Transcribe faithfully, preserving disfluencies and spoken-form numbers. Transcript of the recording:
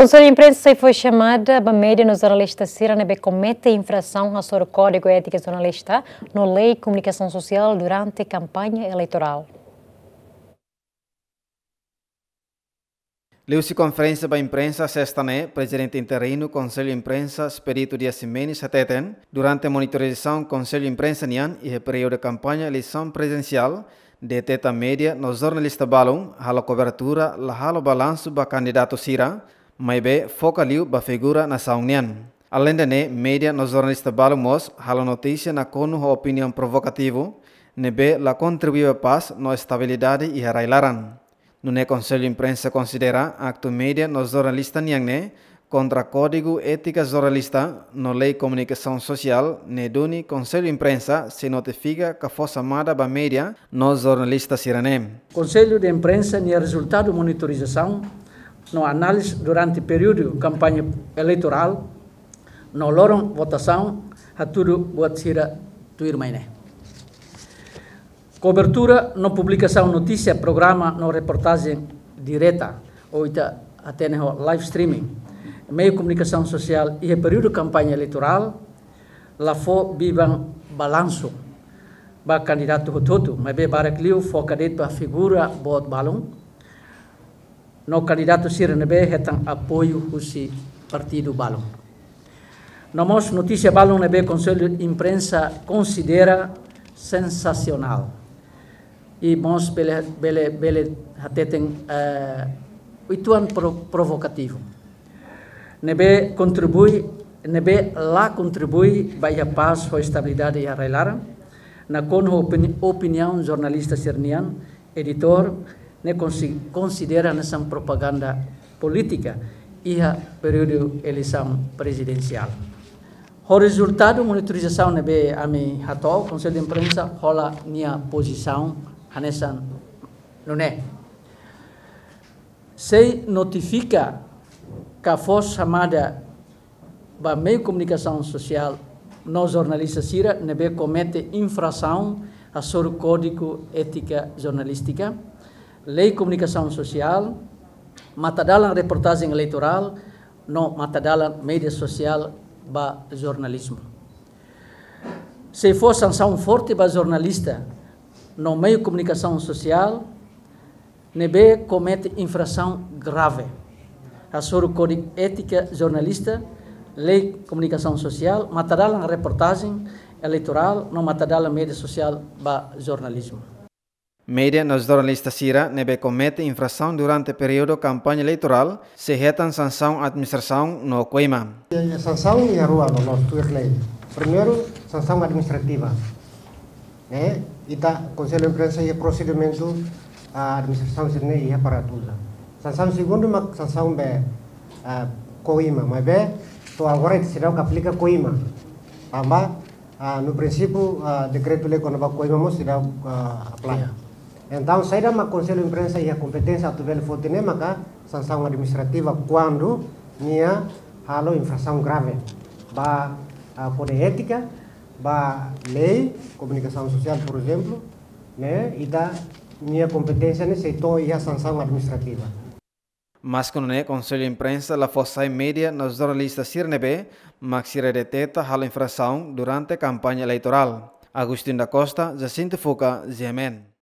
Konsellu Imprensa sei fó xamada ba média no jornalista sira ne'ebé komete infrasaun hasoru Kódigu Étika Jornalista no Lei Komunikasaun Sosiál durante kampaña eleitorál. Liuhusi konferénsia ba imprensa sesta ne'e, Prezidente Interinu Konsellu Imprensa, Expedito Dias Ximenes, hateten, durante monitorizasaun Konsellu Imprensa nian iha períodu kampaña eleisaun prezidensiál, deteta média no jornalista balun halo kobertura la halo balansu ba kandidatu sira, maibé foka liu ba figura nasaun nian. Aleinde ne'e, média no jornalista balun mós halo notísia nakonu ho opiniaun provokativu, ne'ebé la kontribui ba pás no estabilidade iha rai-laran. Nune'e Konsellu Imprensa konsidera aktu média no jornalista nian ne'e kontra Kódigu Étika Jornalista no Lei Komunikasaun Sosiál, ne'e duni Konsellu Imprensa sei notifika ka fó xamada ba média no jornalista sira-ne'e. Konsellu de Imprensa nia rezultadu monitorizasaun no análize durante períodu kampaña eleitorál no loron votasaun hatudu buat sira tuirmai ne'e. Kobertura no publikasaun notísia, programa no reportajen direta, ou ita hatene ho live streaming, meiu komunikasaun sosiál iha períodu kampaña eleitorál, la fó biban balansu ba kandidatu hotu-hotu, maibé barak liu foka de'it ba figura boot balun, no kandidatu sira ne'ebé hetan apoiu husi partidu balun. No mós notísia balun ne'ebé Konsellu Imprensa konsidera sensasionál. I mós bele, bele, bele hateten, eh, uitoan pro-, provokativu. Ne'ebé kontribui, ne'ebé la kontribui ba iha pás ho estabilidade iha rai-laran, nakonu ho opini-, opiniaun jornalista sira-nian, editór, ne'e konsi-, konsidera hanesan propaganda polítika iha períodu eleisaun prezidensiál. Ho rezultadu monitorizasaun ne'ebé ami hato'o, Konsellu de Imprensa hola nia pozisaun hanesan nune'e. Sei notifika ka fó xamada ba meiu komunikasaun sosiál no jornalista sira ne'ebé komete infrasaun hasoru Kódigu Étika Jornalístika, Lei Komunikasaun Sosiál, matadalan reportajen eleitorál, no matadalan média sosiál ba jornalizmu. Sei fó sansaun forte ba jornalista no meiu komunikasaun sosiál ne'ebé komete infrasaun grave hasoru Kódigu Étika Jornalista, Lei Komunikasaun Sosiál, matadalan reportajen eleitorál no matadalan média sosiál ba jornalizmu. Média no jornalista sira ne'ebé komete infrasaun durante períodu kampaña eleitorál sei hetan sansaun administrasaun no koima. Sansaun iha rua loloos tuir lei. Primeiru, sansaun administrativa. Ne'e, ita Konsellu Imprensa iha prosedimentu, ah, administrasaun sira-ne'e iha para atu uza. Sansaun segundu mak sansaun be, ah, koima, maibé to'o agora ita seidauk aplika koima. Tanba, ah, no prinsípiu, ah, dekretu-lei kona-ba koima mós seidauk, ah, apply. Iya. Entaun, saida mak Konsellu Imprensa iha kompeténsia atu bele foti ne'e maka sansaun administrativa kuandu nia halo infrasaun grave ba, ah, kódigu étika, ba lei komunikasaun sosiál, por ezemplu, ne'e, ita-nia kompeténsia ne'e sei to'o iha sansaun administrativa. Maske nune'e, Konsellu Imprensa la fó sai média no jornalista sira ne'ebé mak sira deteta halo infrasaun durante kampaña eleitorál. Agostinho da Costa, Jacinto Fuca, G M N.